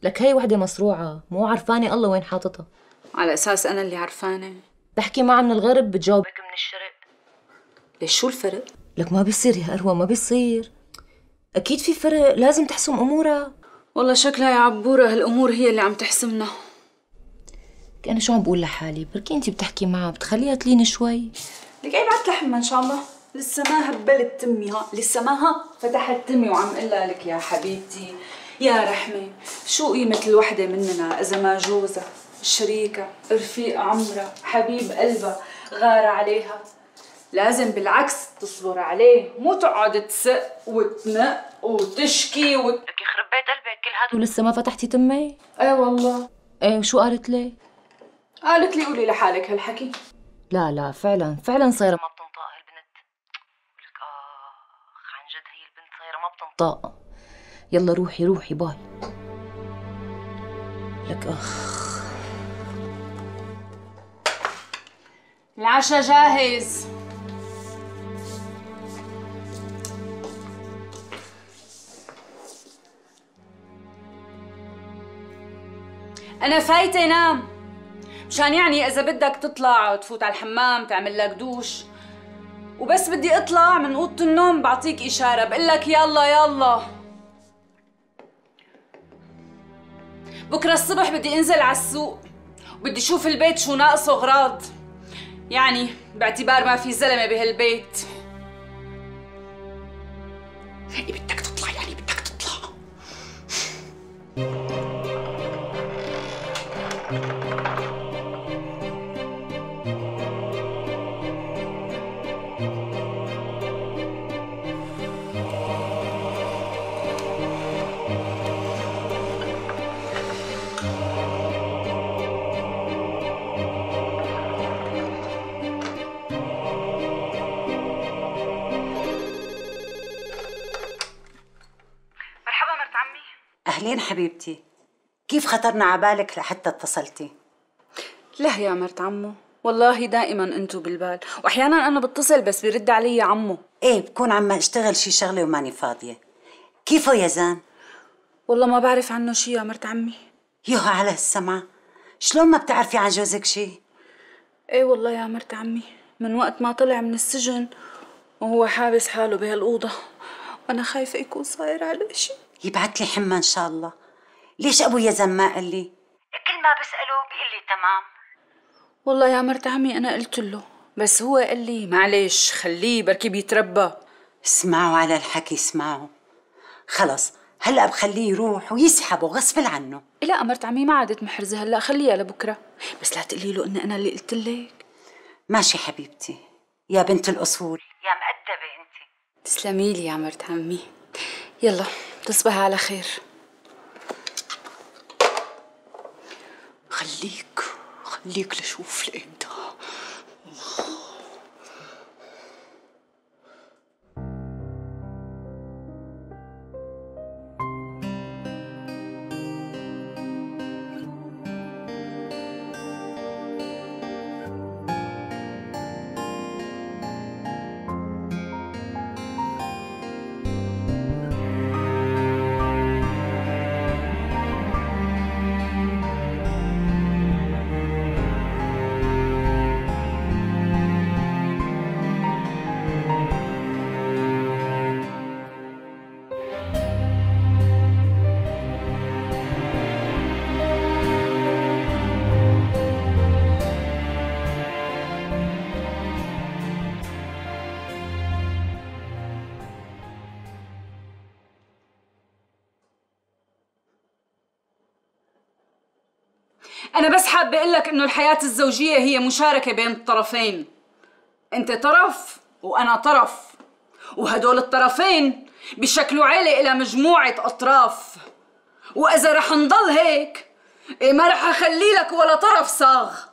لك هي وحدة مصروعة، مو عرفانة الله وين حاططها. على أساس أنا اللي عرفانة؟ بحكي معها من الغرب بتجاوبك من الشرق. ليش شو الفرق؟ لك ما بيصير يا أروى، ما بيصير. أكيد في فرق، لازم تحسم أمورها. والله شكلها يا عبورة هالأمور هي اللي عم تحسمنا. أنا شو عم بقول لحالي، بركي أنت بتحكي معها بتخليها تلين شوي. لك أي بعت لحمة إن شاء الله. لسه ما هبلت تمي، ها لسه ما فتحت تمي وعم قلها لك يا حبيبتي يا رحمة. شو قيمة الوحدة مننا إذا ما جوزها، شريكة، رفيق عمرها، حبيب قلبها غار عليها؟ لازم بالعكس تصبر عليه، مو تقعد تسق وتنق وتشكي لك يخرب بيت قلبك، كل هاد ولسه ما فتحتي تمي؟ ايه والله. ايه وشو قالت لي؟ قالت لي قولي لحالك هالحكي. لا فعلا صايرة ما بتنطق هالبنت. لك عن جد هي البنت صايرة ما بتنطق. يلا روحي باي. لك العشاء جاهز. أنا فايتة نام، مشان يعني إذا بدك تطلع وتفوت على الحمام تعمل لك دوش، وبس بدي أطلع من أوضة النوم بعطيك إشارة بقلك يلا. بكرة الصبح بدي أنزل على السوق وبدي أشوف البيت شو ناقصه أغراض، يعني باعتبار ما في زلمة بهالبيت. بدك تطلع يعني بدك تطلع. أهلين حبيبتي، كيف خطرنا عبالك لحتى اتصلتي؟ لا يا مرت عمو، والله دائما انتو بالبال، واحيانا انا بتصل بس بيرد علي عمو. ايه بكون عم اشتغل شي شغله وماني فاضيه. كيفه يا زان؟ والله ما بعرف عنه شي يا مرت عمي. يوها على السمع، شلون ما بتعرفي عن جوزك شي؟ ايه والله يا مرت عمي، من وقت ما طلع من السجن وهو حابس حاله بهالأوضة، وانا خايفه يكون صاير عليه شي. يبعت لي حمى ان شاء الله. ليش ابو يزن ما قال لي؟ كل ما بساله بيقول لي تمام. والله يا مرت عمي انا قلت له، بس هو قال لي معلش خليه بركي بيتربى. اسمعوا على الحكي اسمعوا. خلص هلا بخليه يروح ويسحبه غصب عنه. لا مرت عمي ما عادت محرزه هلا، خليها لبكره، بس لا تقولي له ان انا اللي قلت لك. ماشي حبيبتي يا بنت الاصول يا مؤدبه انت. تسلمي لي يا مرت عمي. يلا تصبح على خير. خليك لشوف لإمتى. أنا بس حابة أقول لك إنه الحياة الزوجية هي مشاركة بين الطرفين. أنت طرف وأنا طرف، وهدول الطرفين بيشكلوا عيلة إلى مجموعة أطراف، وإذا رح نضل هيك ما رح أخلي لك ولا طرف صاغ.